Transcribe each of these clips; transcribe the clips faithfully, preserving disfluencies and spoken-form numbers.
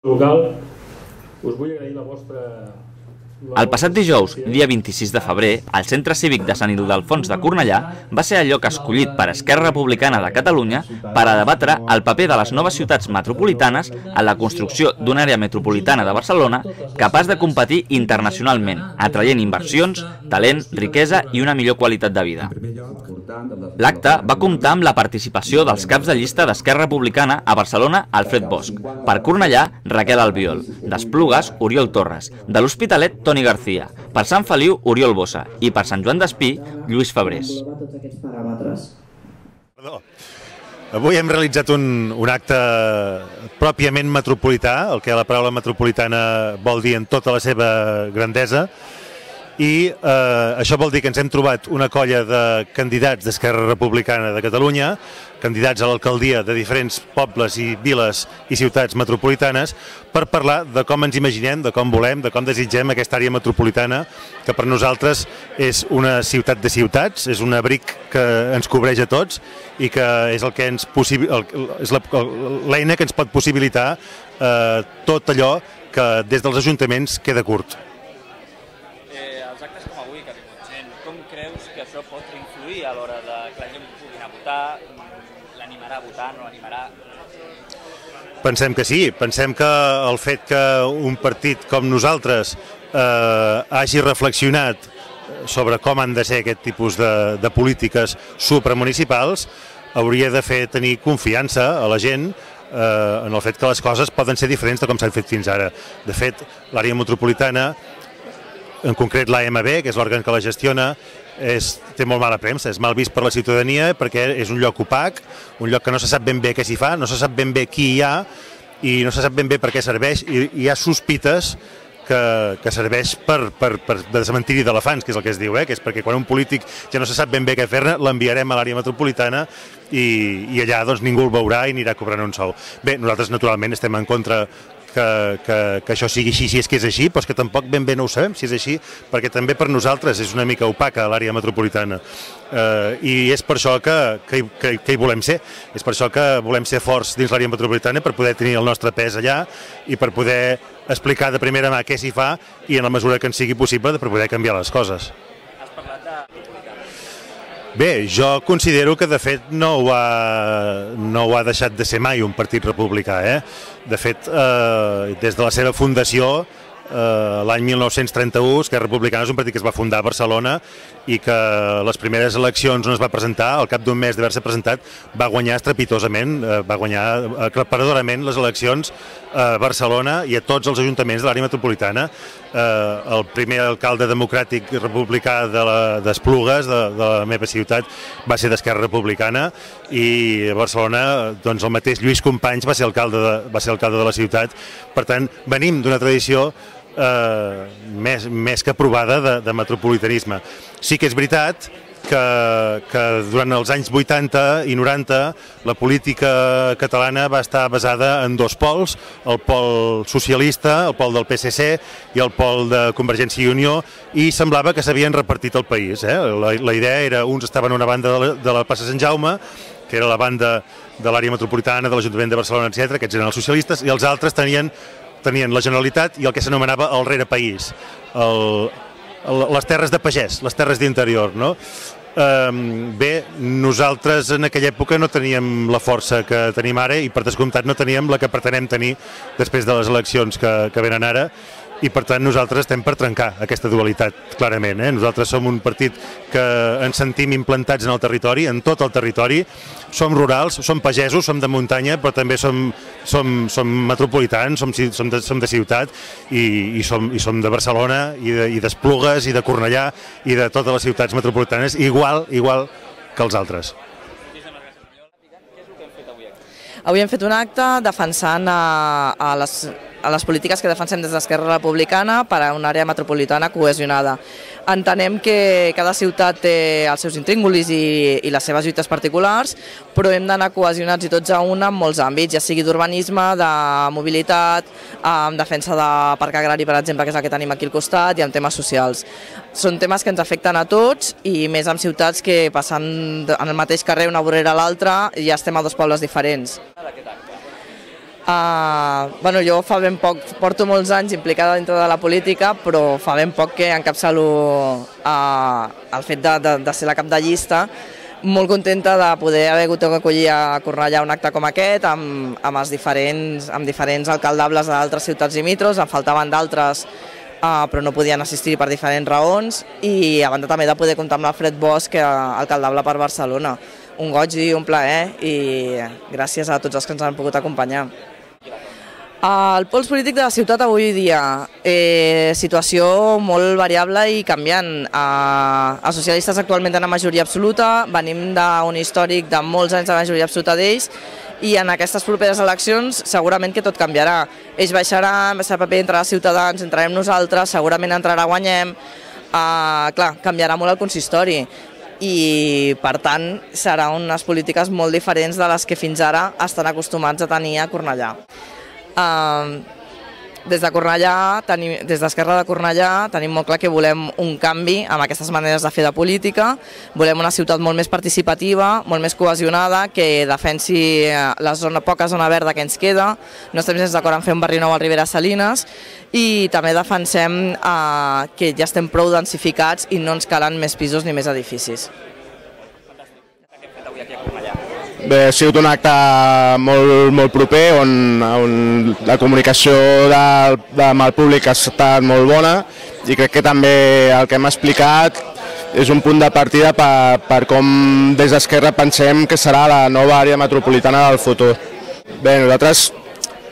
local, us vull agrair la vostra... El passat dijous, dia vint-i-sis de febrer, el Centre Cívic de Sant Ildefons de Cornellà va ser el lloc escollit per Esquerra Republicana de Catalunya per a debatre el paper de les noves ciutats metropolitanes en la construcció d'una àrea metropolitana de Barcelona capaç de competir internacionalment, atraient inversions, talent, riquesa i una millor qualitat de vida. L'acte va comptar amb la participació dels caps de llista d'Esquerra Republicana a Barcelona, Alfred Bosch, per Cornellà, Raquel Albiol, d'Esplugues, Oriol Torres, de l'Hospitalet, Toni García, per Sant Feliu, Oriol Bossa i per Sant Joan d'Espí, Lluís Febrés. Perdó. Avui hem realitzat un, un acte pròpiament metropolità, el que la paraula metropolitana vol dir en tota la seva grandesa, i eh, això vol dir que ens hem trobat una colla de candidats d'Esquerra Republicana de Catalunya, candidats a l'alcaldia de diferents pobles i viles i ciutats metropolitanes, per parlar de com ens imaginem, de com volem, de com desitgem aquesta àrea metropolitana, que per nosaltres és una ciutat de ciutats, és un abric que ens cobreix a tots i que és el que ens és l'eina que ens pot possibilitar eh, tot allò que des dels ajuntaments queda curt. Com creus que això pot influir a l'hora de que la gent pugui anar a votar? L'animarà a votar, no l'animarà? Pensem que sí, pensem que el fet que un partit com nosaltres eh, hagi reflexionat sobre com han de ser aquest tipus de, de polítiques supramunicipals hauria de fer tenir confiança a la gent eh, en el fet que les coses poden ser diferents de com s'han fet fins ara. De fet, l'àrea metropolitana, en concret l'A M B, que és l'òrgan que la gestiona, és, té molt mala premsa, és mal vist per la ciutadania perquè és un lloc opac, un lloc que no se sap ben bé què s'hi fa, no se sap ben bé qui hi ha i no se sap ben bé per què serveix, i hi ha sospites que, que serveix per, per, per de cementiri d'elefants, que és el que es diu, eh? Que és perquè quan un polític ja no se sap ben bé què fer-ne, l'enviarem a l'àrea metropolitana i, i allà doncs, ningú el veurà i anirà cobrant un sou. Bé, nosaltres naturalment estem en contra Que, que, que això sigui així, si és que és així, però és que tampoc ben bé no ho sabem si és així, perquè també per nosaltres és una mica opaca l'àrea metropolitana. Eh, I és per això que, que, que, que hi volem ser, és per això que volem ser forts dins l'àrea metropolitana per poder tenir el nostre pes allà i per poder explicar de primera mà què s'hi fa i en la mesura que ens sigui possible per poder canviar les coses. Bé, jo considero que de fet no ho ha, no ho ha deixat de ser mai un partit republicà. Eh? De fet, eh, des de la seva fundació, eh, l'any mil nou-cents trenta-u, Esquerra Republicana és un partit que es va fundar a Barcelona i que les primeres eleccions on es va presentar, al cap d'un mes d'haver-se presentat, va guanyar estrepitosament, eh, va guanyar aclaparadorament les eleccions a Barcelona i a tots els ajuntaments de l'àrea metropolitana. Eh, el primer alcalde democràtic republicà d'Esplugues, de, de la meva ciutat, va ser d'Esquerra Republicana i a Barcelona doncs, el mateix Lluís Companys va ser alcalde de, va ser alcalde de la ciutat. Per tant, venim d'una tradició eh, més, més que provada de, de metropolitanisme. Sí que és veritat que, que durant els anys vuitanta i noranta la política catalana va estar basada en dos pols, el pol socialista, el pol del P S C i el pol de Convergència i Unió, i semblava que s'havien repartit el país. Eh? La, la idea era, uns estaven a una banda de la, de la plaça Sant Jaume, que era la banda de l'àrea metropolitana, de l'Ajuntament de Barcelona, etcètera, aquests eren els socialistes, i els altres tenien, tenien la Generalitat i el que s'anomenava el rerepaís, el, les terres de pagès, les terres d'interior, no? Um, bé, nosaltres en aquella època no teníem la força que tenim ara i per descomptat no teníem la que pretenem tenir després de les eleccions que, que venen ara, i per tant nosaltres estem per trencar aquesta dualitat, clarament. Eh? Nosaltres som un partit que ens sentim implantats en el territori, en tot el territori, som rurals, som pagesos, som de muntanya, però també som, som, som metropolitans, som, som, de, som de ciutat i, i, som, i som de Barcelona i d'Esplugues i de Cornellà i de totes les ciutats metropolitanes, igual, igual que els altres. Avui hem fet un acte defensant a, a, les, a les polítiques que defensem des d'Esquerra Republicana per a una àrea metropolitana cohesionada. Entenem que cada ciutat té els seus intríngulis i, i les seves lluites particulars, però hem d'anar cohesionats i tots a una en molts àmbits, ja sigui d'urbanisme, de mobilitat, en defensa de parc agrari, per exemple, que és el que tenim aquí al costat, i en temes socials. Són temes que ens afecten a tots i més en ciutats que passant en el mateix carrer una vorera a l'altra ja estem a dos pobles diferents. Uh, bueno, jo fa ben poc, porto molts anys implicada dintre de la política, però fa ben poc que encapçalo uh, el fet de, de, de ser la cap de llista. Molt contenta de poder haver hagut d'acollir a Cornellà un acte com aquest, amb, amb, els diferents, amb diferents alcaldables d'altres ciutats limítrofes. En faltaven d'altres, uh, però no podien assistir per diferents raons, i a banda també de poder comptar amb l'Alfred Bosch, que alcaldable per Barcelona. Un goig i un plaer, i gràcies a tots els que ens han pogut acompanyar. El pols polític de la ciutat avui dia, eh, situació molt variable i canviant. Eh, els socialistes actualment tenen majoria absoluta, venim d'un històric de molts anys de majoria absoluta d'ells, i en aquestes properes eleccions segurament que tot canviarà. Ells baixaran, baixarà paper entre els ciutadans, entrarem nosaltres, segurament entrarà guanyem. Eh, clar, canviarà molt el consistori, i per tant serà unes polítiques molt diferents de les que fins ara estan acostumats a tenir a Cornellà. Uh, des de Cornellà, tenim, des d'Esquerra de Cornellà tenim molt clar que volem un canvi amb aquestes maneres de fer de política. Volem una ciutat molt més participativa, molt més cohesionada, que defensi la zona, poca zona verda que ens queda. No estem gens d'acord en fer un barri nou al Ribera Salines, i també defensem uh, que ja estem prou densificats i no ens calen més pisos ni més edificis. Bé, ha sigut un acte molt, molt proper, on, on la comunicació de, de, amb el públic ha estat molt bona, i crec que també el que hem explicat és un punt de partida per, per com des d'Esquerra pensem que serà la nova àrea metropolitana del futur. Bé, nosaltres,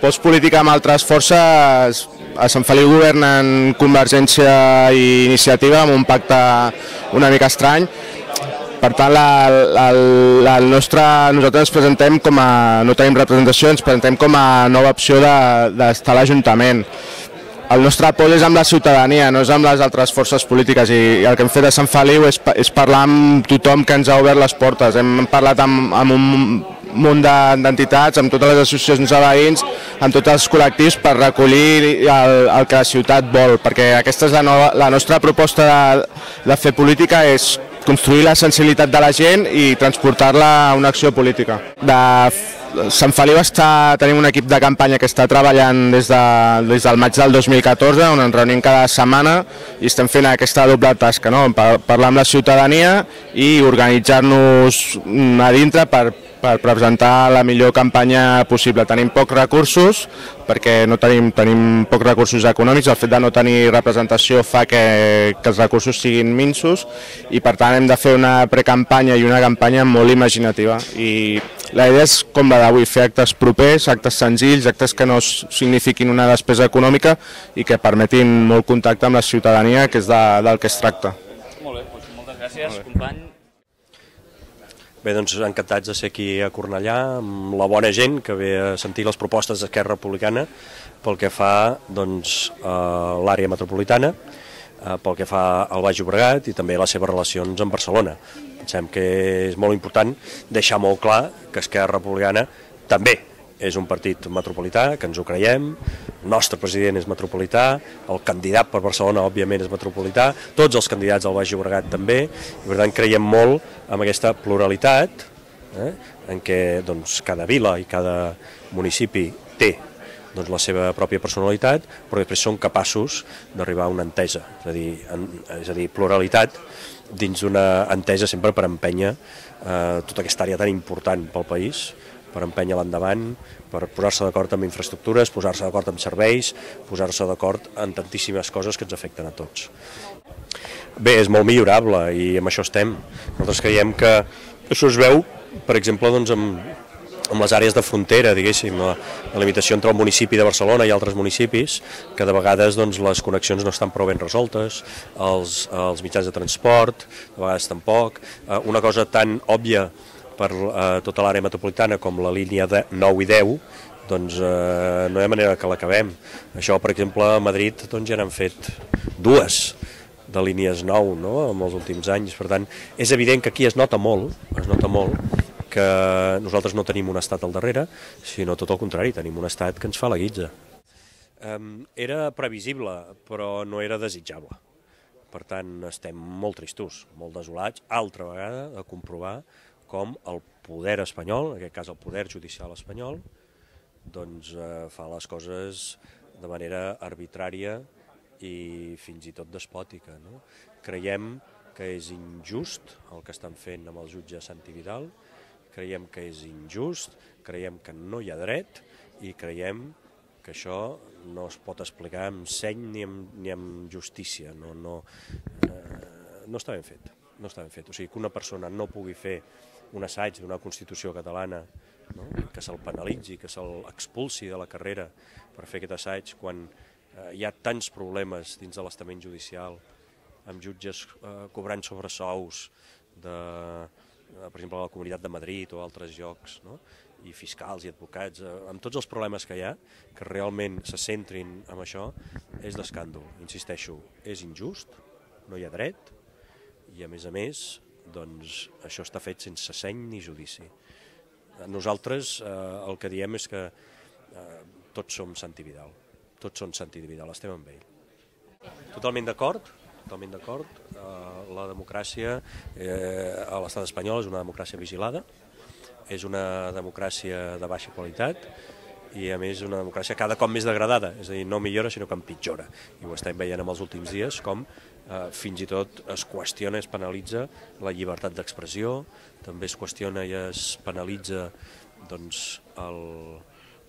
postpolítica amb altres forces, a Sant Feliu governen Convergència i Iniciativa amb un pacte una mica estrany. Per tant, la, la, la nostra, nosaltres ens presentem com a, no tenim representació, ens presentem com a nova opció d'estar a l'Ajuntament. El nostre pols és amb la ciutadania, no és amb les altres forces polítiques, i el que hem fet a Sant Feliu és, és parlar amb tothom que ens ha obert les portes. Hem parlat amb, amb un munt d'entitats, amb totes les associacions de veïns, amb tots els col·lectius, per recollir el, el que la ciutat vol, perquè aquesta és la, nova, la nostra proposta de, de fer política, és construir la sensibilitat de la gent i transportar-la a una acció política. De Sant Feliu està, tenim un equip de campanya que està treballant des, de, des del maig del dos mil catorze, on ens reunim cada setmana i estem fent aquesta doble tasca, no? Parlar amb la ciutadania i organitzar-nos a dintre per, per presentar la millor campanya possible. Tenim pocs recursos, perquè no tenim, tenim pocs recursos econòmics, el fet de no tenir representació fa que, que els recursos siguin minsos, i per tant hem de fer una precampanya i una campanya molt imaginativa. I la idea és com la d'avui, fer actes propers, actes senzills, actes que no signifiquin una despesa econòmica i que permetin molt contacte amb la ciutadania, que és de, del que es tracta. Molt bé, doncs moltes gràcies, company. Bé, doncs encantats de ser aquí a Cornellà, amb la bona gent que ve a sentir les propostes d'Esquerra Republicana pel que fa doncs, a l'àrea metropolitana, pel que fa al Baix Llobregat i també les seves relacions amb Barcelona. Pensem que és molt important deixar molt clar que Esquerra Republicana també és un partit metropolità, que ens ho creiem, el nostre president és metropolità, el candidat per Barcelona òbviament és metropolità, tots els candidats del Baix Llobregat també, i per tant creiem molt en aquesta pluralitat, eh, en què doncs, cada vila i cada municipi té doncs, la seva pròpia personalitat, però després són capaços d'arribar a una entesa, és a dir, en, és a dir pluralitat dins d'una entesa sempre per empènyer eh, tota aquesta àrea tan important pel país, per empènyer l'endavant, per posar-se d'acord amb infraestructures, posar-se d'acord amb serveis, posar-se d'acord en tantíssimes coses que ens afecten a tots. Bé, és molt millorable i amb això estem. Nosaltres creiem que això es veu, per exemple, doncs, amb, amb les àrees de frontera, diguéssim, la, la limitació entre el municipi de Barcelona i altres municipis, que de vegades doncs, les connexions no estan prou ben resoltes, els, els mitjans de transport, de vegades tampoc. Una cosa tan òbvia per eh, tota l'àrea metropolitana com la línia de nou i deu, doncs eh, no hi ha manera que l'acabem. Això, per exemple, a Madrid doncs, ja n'han fet dues de línies nou, no?, en els últims anys. Per tant, és evident que aquí es nota molt, es nota molt que nosaltres no tenim un estat al darrere, sinó tot el contrari, tenim un estat que ens fa la guitza. Eh, era previsible, però no era desitjable. Per tant, estem molt tristos, molt desolats, altra vegada, de comprovar com el poder espanyol, en aquest cas el poder judicial espanyol, doncs, eh, fa les coses de manera arbitrària i fins i tot despòtica. No? Creiem que és injust el que estan fent amb el jutge Santi Vidal, creiem que és injust, creiem que no hi ha dret i creiem que això no es pot explicar amb seny ni amb, ni amb justícia. No, no, eh, no està ben fet. No està ben fet. O sigui, que una persona no pugui fer un assaig d'una Constitució catalana, no? Que se'l penalitzi, que se'l expulsi de la carrera per fer aquest assaig quan eh, hi ha tants problemes dins de l'estament judicial, amb jutges eh, cobrant sobresous de, eh, per exemple, a la Comunitat de Madrid o altres llocs, no? I fiscals i advocats, eh, amb tots els problemes que hi ha, que realment se centrin en això, és d'escàndol. Insisteixo, és injust, no hi ha dret, i a més a més, doncs, això està fet sense seny ni judici. Nosaltres eh, el que diem és que eh, tots som Santi Vidal, tots són Santi Vidal, estem amb ell. Totalment d'acord, totalment d'acord. Eh, la democràcia eh, a l'estat espanyol és una democràcia vigilada, és una democràcia de baixa qualitat i a més una democràcia cada cop més degradada, és a dir, no millora sinó que empitjora. I ho estem veient en els últims dies com eh, fins i tot es qüestiona i es penalitza la llibertat d'expressió, també es qüestiona i es penalitza doncs, el,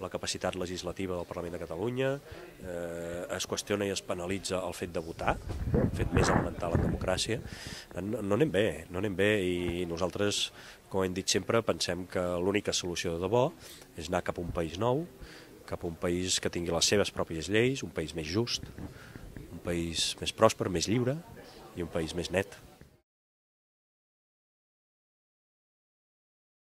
la capacitat legislativa del Parlament de Catalunya, eh, es qüestiona i es penalitza el fet de votar, el fet més elemental en democràcia. No, no anem bé, no anem bé i nosaltres, com hem dit sempre, pensem que l'única solució de debò és anar cap a un país nou, cap a un país que tingui les seves pròpies lleis, un país més just, un país més pròsper, més lliure i un país més net.